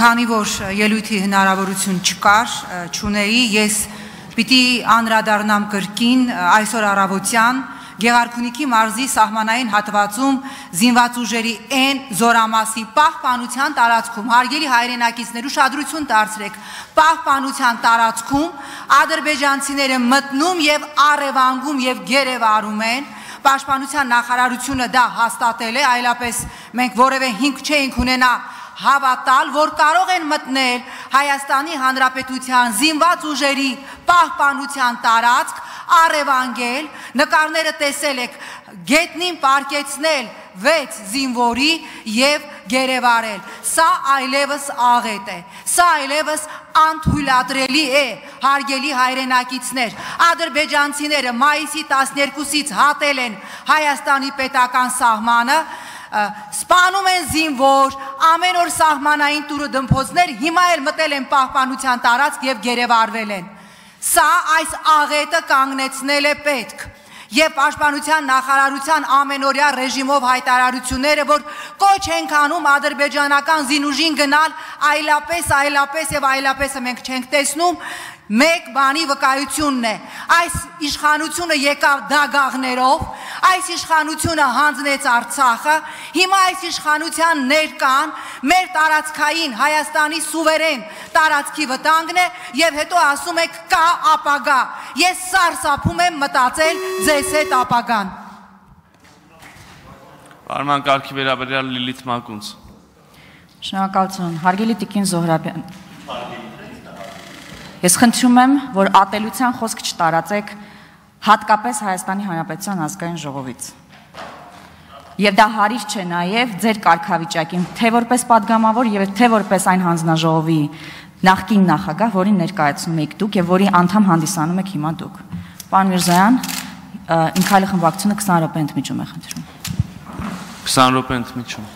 Քանի որ ելույթի հնարավորություն չկար, չունեի, ես պիտի անդրադառնամ կրկին այսօր առավոտյան Գեղարքունիքի մարզի սահմանային հատվածում զինված ուժերի N զորամասի պահպանության տարածքում, հարգելի հայրենակիցներ, ուշադրություն դարձրեք, պահպանության տարածքում ադրբեջանցիները մտնում եւ առևանգում եւ գերեվարում են, Պաշտպանության նախարարությունը դա հաստատել է, այլապես մենք որևէ հիմք չէինք ունենա հավատալ, որ կարող են մտնել Հայաստանի Հանրապետության զինված ուժերի պահպանության տարածք, առևանգել, նկարները տեսել եք, գետնին պարկեցնել 6 զինվորի եւ գերեվարել։ Սա այլևս աղետ է, սա այլևս անթույլատրելի է, հարգելի հայրենակիցներ, ադրբեջանցիները մայիսի 12-ից հատել են Հայաստանի պետական սահմանը, սպանում են զինվոր, ամեն օր սահմանային տուրը դմփոցներ, հիմա էլ մտել են պահպանության տարածք եւ գերեվարվել են։ Սա այս աղետը կանգնեցնել է պետք եւ պաշտպանության նախարարության ամենօրյա ռեժիմով հայտարարությունները, որ կոչ ենք անում ադրբեջանական զինուժին գնալ այլապես եւ այլապեսը մենք չենք տեսնում, մեկ բանի վկայությունն է, այս իշխանությունը եկավ դագաղներով, այս իշխանությունը հանձնեց Արցախը, հիմա այս իշխանության ներկան մեր տարածքային Հայաստանի սուվերեն տարածքի վտանգն է եւ հետո ասում եք կա ապագա, ես սարսափում եմ մտածել ձեզ հետ ապագան։ Արման կարգի վերաբերյալ Լիլիթ Մակունց։ Շնորհակալություն, հարգելի Տիկին Զոհրաբյան։ Ես խնդրում եմ, որ ատելության խոսք չտարածեք հատկապես Հայաստանի Հանրապետության ազգային ժողովից։ Եվ դա հարիր չէ նաև ձեր կարգավիճակին, թե որպես падգամավոր եւ թե որպես այն հանձնաժողովի նախկին նախագահ, որին ներկայացնում եք դուք եւ որի անդամ հանդիսանում եք հիմա դուք։ Պարոն Միրզոյան, իմ քայլի խմբակցությունը 20 րոպե ընդմիջում է խնդրում։ 20 րոպե ընդմիջում։